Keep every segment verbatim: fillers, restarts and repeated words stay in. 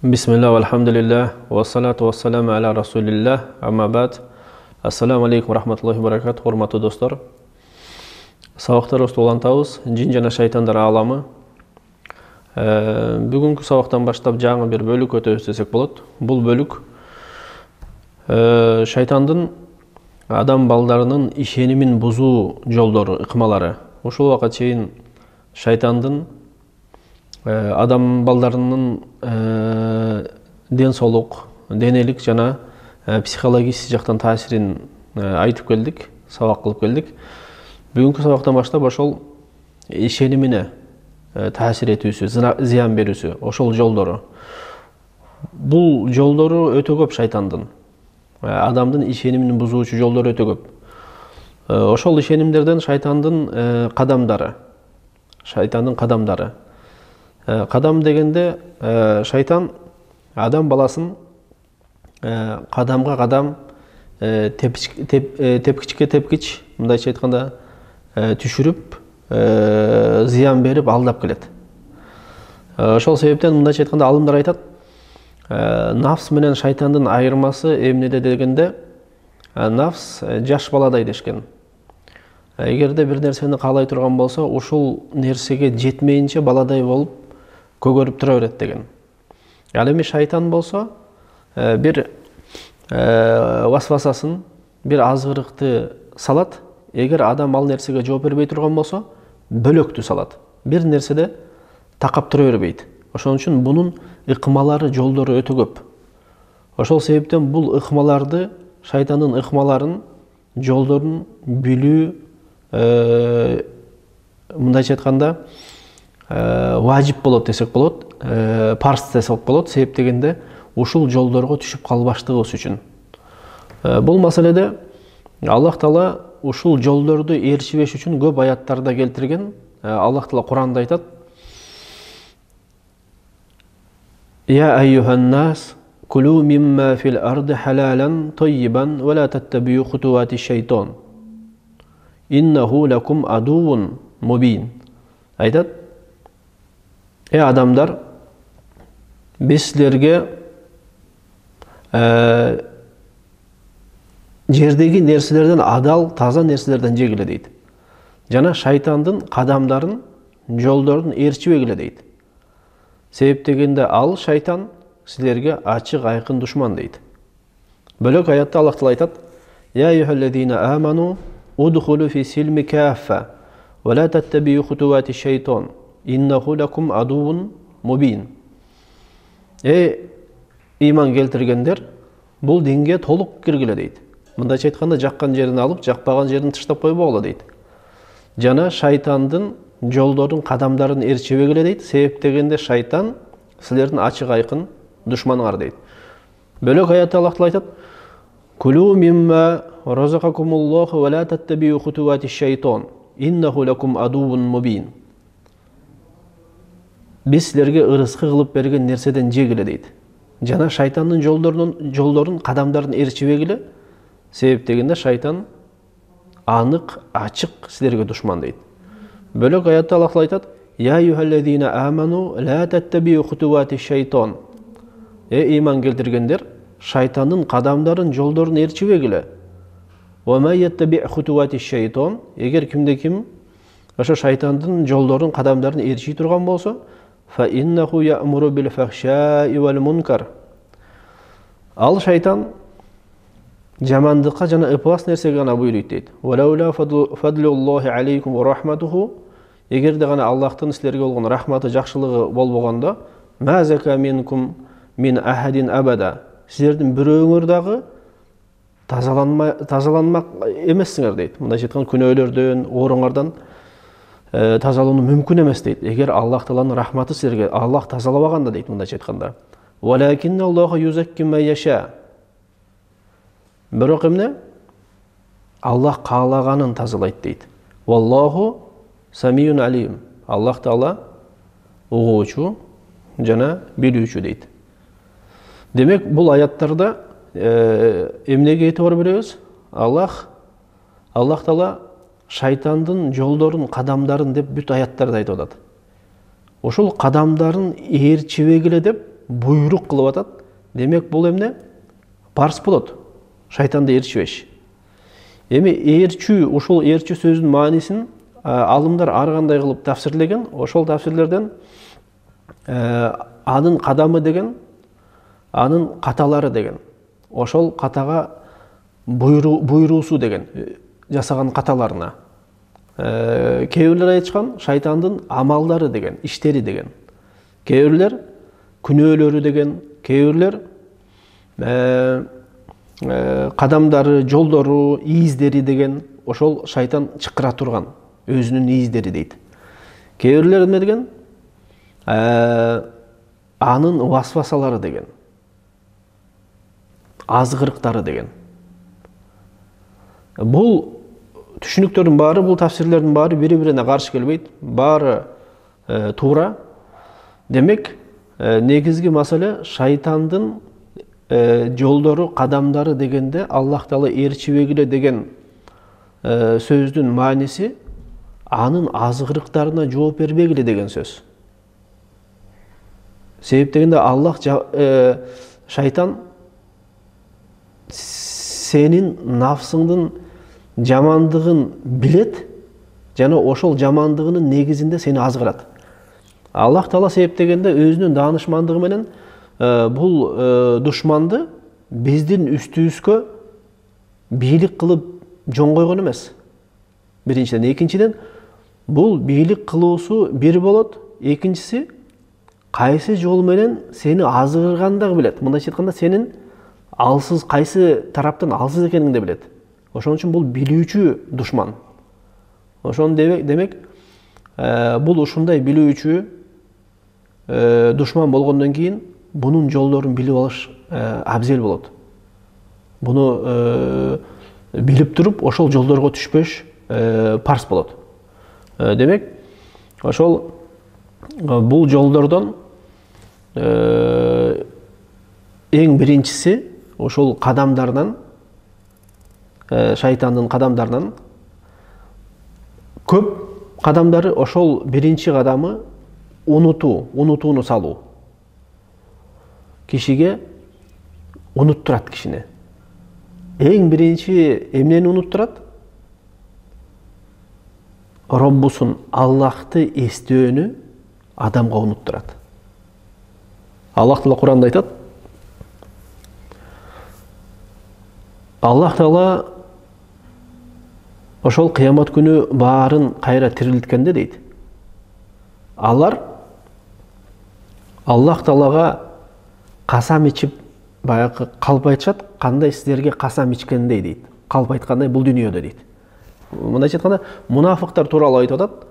Бисмилlah, алхамдулилlah, вассалату вассаламу аля расулиллах, амма бад. Ассаламу алейкум, рахматуллахи баракат, урматтуу достор. Сабактарыбызды улантабыз, жин жана шайтандар ааламы. Бүгүнкү сабактан баштап жаңы бир бөлүк өтөбүз десек болот. Бул бөлүк шайтандын адам балдарынын ишенимин бузуу жолдору, ыкмалары. Ушул убакка чейин шайтандын адам балдарынын ден соолук, денелик жана психологический жактан таасирин айтып келдик, сабак кылып келдик. Бүгүнкү сабактан баштап ошол ишенимине таасир этүүсү, зыян берүүсү, ошол жолдору. Бул жолдору өтө көп шайтандын. Адамдын ишенимин бузуучу жолдору өтө көп. Ошол ишенимдерден шайтандын кадамдары. Шайтандын кадамдары. Кадам дегенде шайтан адам баласын кадамга кадам, тепкичке тепкич, мындайча айтканда түшүрүп, зыян берип алдап келет. Ошол себептен мындайча айтканда алымдар айтат, нафс менен шайтандын айырмасы эмнеде дегенде, нафс жаш баладай дешкен. Эгерде бир нерсени каалай турган болсо, ушул нерсеге жетмейинче баладай болуп көгөрүп тура берет деген. Ал эми шайтан болсо бир васвасасын, бир азгырыкты салат. Эгер адам ал нерсеге жооп бербей турган болсо, бөлөктү салат. Бир нерседе такап тура бербейт. Ошон үчүн бунун ыкмалары, жолдору өтө көп. Ошол себептен бул ыкмаларды, шайтандын ыкмаларын, жолдорун билүү, мындайча айтканда, важип болот десек болот, парз десек болот, себеп дегенде ушул жолдорго түшүп калбаштыгыбыз үчүн. Бул маселеде Аллах Таала ушул жолдорду ээрчибеш үчүн көп аяттарда келтирген. Аллах Таала Куранда айтат: «Я айюхан нас, кулу мимма фил арди халалан тоййибан, ва ла таттабию хутуати шайтон. Иннаху лакум адувун мубин». Айтат: «Эй адамдар, биз силерге жердеги нерселерден адал, таза нерселерден жегиле» дейт. Жана шайтандын кадамдарын, жолдорун ээрчибегиле дейт. Себеп дегенде ал шайтан силерге ачык айкын душман дейт. Бөлөк аятта Аллах Таала айтат: «Я айюхаллазина аману удхулу фи силми каффа, ва ла таттабию хутуати шайтон. Иннаху лакум адувун мубин». Эй иман келтиргендер, бул динге толук киргиле дейт. Мындайча айтканда, жаккан жерин алып, жакпаган жерин таштап койбогула дейт. Жана шайтандын жолдорун, кадамдарын ээрчибегиле дейт. Себеп дегенде шайтан силердин ачык айкын душманыңар дейт. Бөлөк аятта Аллах Таала айтат: «Кулу мимма разакакумуллаху ва ла таттабию хутуати шайтон. Иннаху лакум адувун мубин». Биз силерге ырыскы кылып берген нерседен жегиле дейт. Жана шайтандын жолдорунун, жолдорун, кадамдарын ээрчибегиле. Себеп дегенде шайтан анык, ачык силерге душман дейт. Бөлөк аятта Аллах айтат: «Я айюхаллазина аману ла таттабию хутуати шайтон». Э иман келтиргендер, шайтандын кадамдарын, жолдорун ээрчибегиле. «Ва ма яттаби хутуати шайтон». Эгер кимде ким ошо шайтандын жолдорун, кадамдарын ээрчий турган болсо, «Фа иннаху я'муру бил фахшаи вал мункар». Ал шайтан жамандыкка жана ыпылас нерсеге гана буйруйт дейт. «Валаула фадлуллахи алейкум ва рахматуху». Эгерде гана Аллахтын силерге болгон рахматы, жакшылыгы болбогондо, «Ма зака минкум мин ахадин абада». Силердин бирөөңөр дагы тазаланмак эмессиңер дейт. Мындайча айтканда, күнөөлөрдөн, ооруңардан тазалануу мүмкүн эмес дейт. Эгер Аллах Тааланын рахматы силерге, Аллах тазалабаганда дейт, мындайча айтканда. «Валакинналлаху юзакки ма яша». Бирок эмне? Аллах каалаганын тазалайт дейт. «Валлаху самиюн алим». Аллах Таала угуучу жана билүүчү дейт. Демек, бул аяттарда эмнеге этибар беребиз? Аллах Аллах Таала шайтандын жолдорун, кадамдарын деп бүт аяттарда айтып атат. Ошол кадамдарын ээрчибегиле деп буйрук кылып атат. Демек бул эмне? Парс болот. Шайтанды ээрчибеш. Эми ээрчүү, ушул ээрчүү сөзүнүн маанисин алымдар ар кандай кылып тафсирлеген. Ошол тафсирлерден анын кадамы деген, анын каталары деген, ошол катага буйруусу деген, жасаган каталарына. Кээ бирлер айтышкан шайтандын амалдары деген, иштери деген. Кээ бирлер күнөөлөрү деген, кээ бирлер кадамдары, жолдору, ийиздери деген, ошол шайтан чакыра турган өзүнүн ийиздери дейт. Кээ бирлер эмне деген? Анын васвасалары деген, азгырыктары деген. Бул түшүнүктөрдүн баары, бул тафсирлердин баары бири-бирине каршы келбейт, баары туура. Демек, негизги маселе шайтандын жолдору, кадамдары дегенде Аллах Таала ээрчибегиле деген сөздүн мааниси анын азгырыктарына жооп бербегиле деген сөз. Себеп дегенде Аллах шайтан сенин нафсыңдын жамандыгын билет жана ошол жамандыгынын негизинде сени азгырат. Аллах Таала себеп дегенде өзүнүн даанышмандыгы менен бул душманды биздин үстүбүзгө бийлик кылып жон койгон эмес. Биринчиден, экинчиден, бул бийлик кылуусу бир болот, экинчиси кайсы жол менен сени азгырганды дагы билет. Мындайча айтканда, сенин алсыз, кайсы тараптан алсыз экениңди билет. Ошон үчүн бул билүүчү душман. Ошон демек, бул ушундай билүүчү душман болгондон кийин бунун жолдорун билип алыш абзел болот. Буну билип туруп, ошол жолдорго түшпөш парс болот. Демек, ошол бул жолдордон эң биринчиси ошол кадамдарынан, шайтандын кадамдарынан көп кадамдары, ошол биринчи кадамы унутуу, унутууну салуу. Кишиге унуттурат кишини. Эң биринчи эмнени унуттурат? Роббусун, Аллахты эстөөнү адамга унуттурат. Аллах Таала Куранда айтат: Аллах Таала ошол кыямат күнү баарын кайра тирилткенде дейт, алар Аллах Таалага касам ичип, баягы калп айтышат, кандай силерге касам ичкендей дейт. Калп айткандай бул дүйнөдө дейт. Мындайча айтканда, мунафыктар тууралуу айтып атат.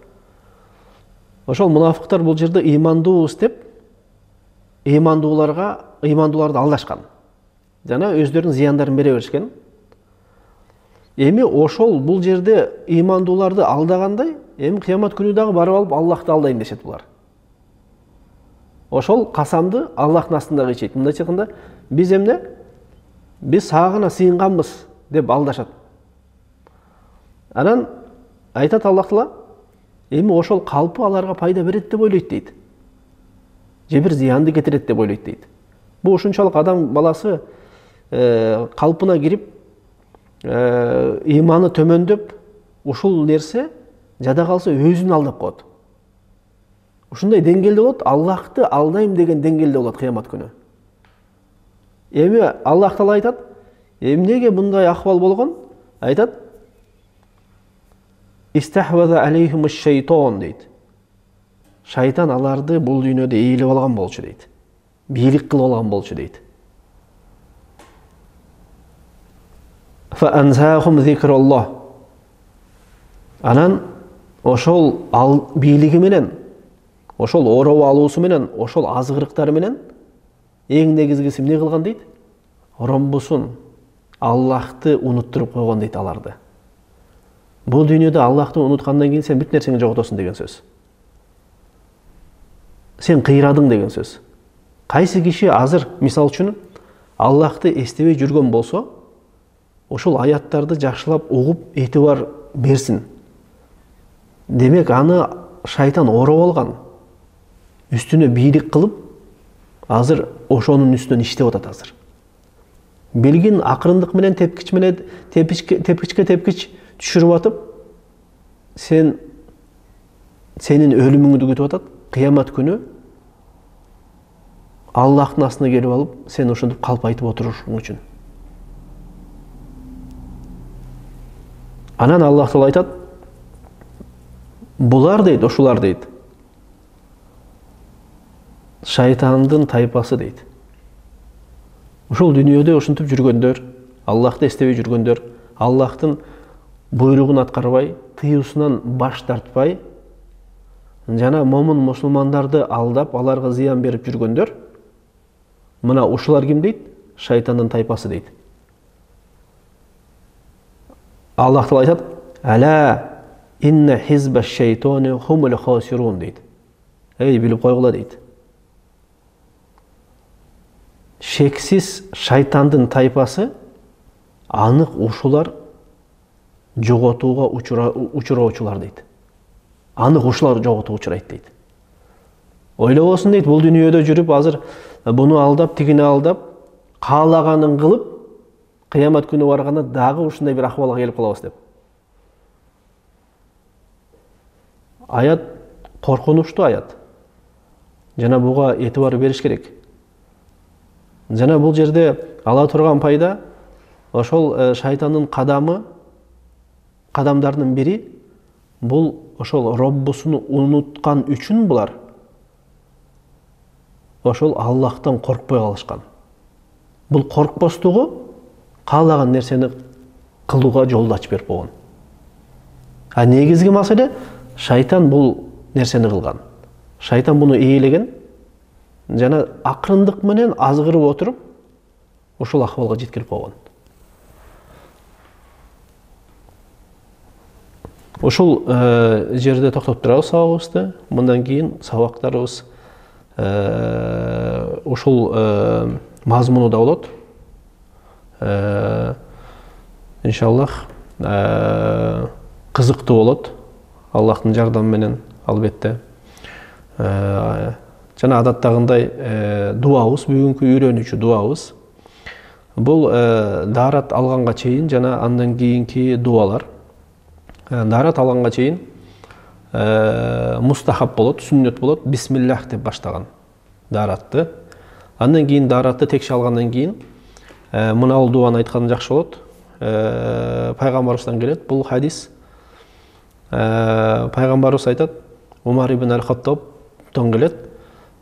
Ошол мунафыктар бул жерде ыймандуубуз деп, ыймандууларга, ыймандууларды алдашкан. Жана өздөрүнүн зыяндарын бере беришкен. Эми ошол бул жерде ыймандууларды алдагандай, эми кыямат күнү дагы барып алып Аллахты алдайм дешет булар. Ошол касамды Аллахтын астында ичет. Мындайча айтканда, биз эмне? Биз сагына сыйынганбыз деп алдашат. Анан айтат Аллах Таала, эми ошол калпы аларга пайда берет деп ойлойт дейт. Же бир зыянды кетирет деп ойлойт дейт. Бу ушунчалык адам баласы калпына кирип, ыйманы төмөндөп, ушул нерсе жада калса өзүн алдап коет. Ушундай деңгээлде болот, Аллахты алдайм деген деңгээлде болот кыямат күнү. Эми Аллах Таала айтат, эмнеге мындай акыбал болгон? Айтат: Истахваза алейхим аш-шайтан дейт. Шайтан аларды бул дүйнөдө ээлеп алган болчу дейт. Бийлик кылып алган болчу дейт. Фа анзахум зикраллах. Анан ошол бийлиги менен, ошол ороп алуусу менен, ошол азгырыктары менен эң негизгиси эмне кылган дейт? Роббусун, Аллахты унуттуруп койгон дейт аларды. Бул дүйнөдө Аллахты унуткандан кийин сен бүт нерсеңи жоготосуң деген сөз. Сен кыйрадың деген сөз. Кайсы киши азыр, мисал үчүн, Аллахты эстебей жүргөн болсо, ошол аяттарды жакшылап угуп, этибар берсин. Демек, аны шайтан ороп алган, үстүнө бийлик кылып, азыр ошонун үстүнөн иштеп атат азыр. Белгин акырындык менен тепкич менен тепкичке тепкичке тепкич түшүрүп атып, сен сенин өлүмүңдү күтүп атат. Кыямат күнү Аллахтын астына келип алып, сен ошентип калп айтып отурушуң үчүн. Анан Аллах Таала айтат, булар дейт, ошулар дейт, шайтандын тайпасы дейт. Ушул дүйнөдө ошентип жүргөндөр, Аллахты эстебей жүргөндөр, Аллахтын буйругун аткарбай, тыюусунан баш тартпай, жана момун мусулмандарды алдап, аларга зыян берип жүргөндөр, мына ушулар ким дейт? Шайтандын тайпасы дейт. Аллах Таала айтат, «Ала инна хизба шайтани хумул хасирун» дейт. Эй, билип койгула дейт. Шексиз шайтандын тайпасы анык ушулар жоготууга учуроочулар дейт. Анык ушулар жоготууга учурайт дейт. Ойлобосун дейт, бул дүйнөдө жүрүп азыр буну алдап, тигини алдап, каалаганын кылып, кыямат күнү барганда дагы ушундай бир акыбалга келип калабыз деп. Аят коркунучтуу аят. Жана буга этибар бериш керек. Жана бул жерде ала турган пайда ошол шайтандын кадамы, кадамдарынын бири бул ошол Роббусун унуткан үчүн булар ошол Аллахтан коркпой калышкан. Бул коркпостугу каалаган нерсени кылууга жолду ачып берип койгон. А негизги маселе шайтан бул нерсени кылган. Шайтан буну ээлеген жана акырындык менен азгырып отуруп ушул акыбалга жеткирип койгон. Ушул жерде токтоп турабыз сабагыбызды. Мындан кийин сабактарыбыз ушул мазмунуда болот. Иншаллах кызыктуу болот. Аллахтын жардамы менен албетте. Жана адаттагындай дуабыз, бүгүнкү үйрөнүүчү дуабыз. Бул даарат алганга чейин жана андан кийинки дуалар. Даарат алганга чейин мустахаб болот, сүннөт болот, бисмиллах деп баштаган дааратты. Андан кийин дааратты текши алгандан кийин мына бул дуаны айткан жакшы болот. Пайгамбарыбыздан келет бул хадис. Пайгамбарыбыз айтат, Умар ибн аль-Хаттабтан келет.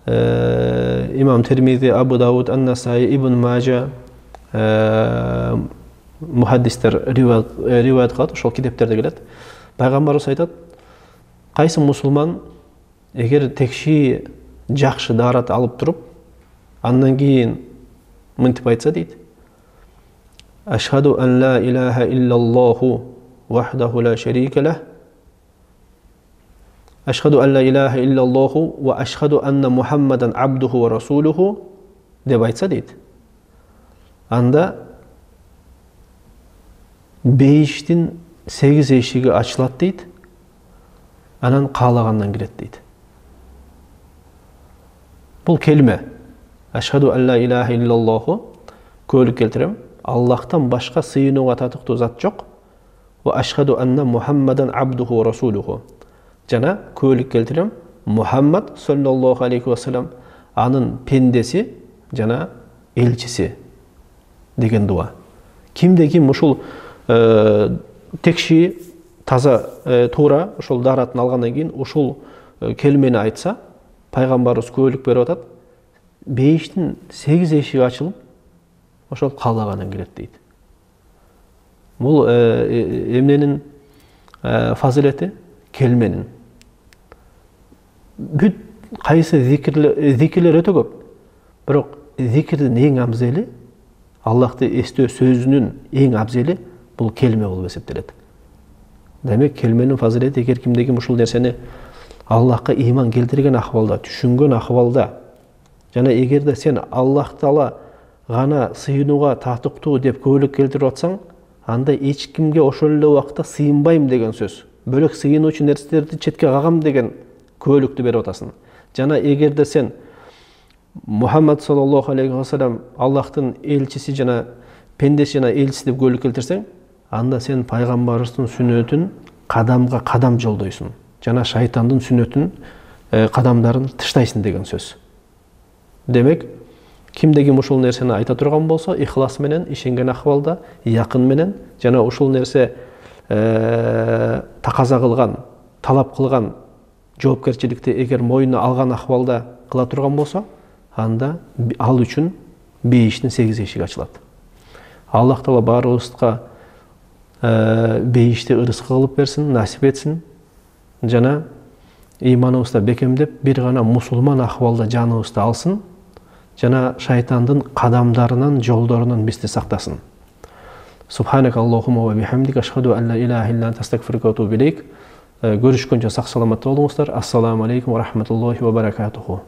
Имам Термизи, Абу Дауд, Ан-Насаи, Ибн Мажа мухаддистер риваят кылат, ошол китептерде келет. Пайгамбарыбыз айтат, кайсы мусулман эгер текши жакшы даарат алып туруп, андан кийин мынтип айтса дейт: Ашхаду ан ла илаха иллаллаху вахдаху ла шарика лах. Ашхаду ан ла илаха иллаллаху ва ашхаду анна Мухаммадан абдуху ва расулуху деп айтса дейт. Анда бейиштин сегиз эшиги ачылат дейт. Анан каалагандан кирет дейт. Бул келме. Ашхаду ан ла илаха иллаллаху көөлүк келтирем. Аллахтан башка сыйынууга татыктуу зат жок. Ва ашхаду анна Мухаммадан абдуху ва расулуху. Жана көөлүк келтирем. Мухаммад саллаллаху алейхи ва саллям анын пендеси жана элчиси деген дуа. Кимде ким ушул текши таза туура ошол дааратын алгандан кийин ушул келмени айтса, пайгамбарыбыз көөлүк берип атат, бейиштин сегиз эшиги ачылып, ошол каалаганын кирет дейт. Бул эмненин фазилети? Келменин. Бүт кайсы зикирлер өтө көп. Бирок зикирдин эң абзели, Аллахты эстөө сөзүнүн эң абзели бул келме болуп эсептелет. Демек, келменин фазилети эгер кимде ким ушул нерсени Аллахка ыйман келтирген акыбалда, түшүнгөн акыбалда, жана эгерде сен Аллах Таала гана сыйынууга татыктуу деп көөлүк келтирип атсаң, анда эч кимге ошол эле убакта сыйынбайм деген сөз. Бөлөк сыйынуучу нерселерди четке кагам деген көөлүктү берип атасың. Жана эгерде сен Мухаммад саллаллаху алейхи ва саллям Аллахтын элчиси жана пендеси жана элчиси деп көйлүк келтирсең, анда сен пайгамбарыбыздын сүннөтүн кадамга кадам жолдойсуң жана шайтандын сүннөтүн кадамдарын тыштайсың деген сөз. Демек, кимде ким ушул нерсени айта турган болсо, ихлас менен, ишенген акыбалда, якын менен жана ушул нерсе таказа кылган, талап кылган жоопкерчиликти эгер мойнуна алган акыбалда кыла турган болсо, анда ал үчүн бейиштин сегиз эшиги ачылат. Аллах Таала баарыбызга бейишти ырыска кылып берсин, насип этсин жана ыйманыбызды бекемдеп, бир гана мусулман акыбалда жаныбызды алсын жана шайтандын кадамдарынан, жолдорунан бизди сактасын. Субханак Аллахумма ва бихамдика ашхаду ан ла илаха илля анта астагфирука ва атубу илейк. Görüşкөнчө сак саламатта болуңуздар. Ассаламу алейкум ва рахматуллахи ва баракатуху.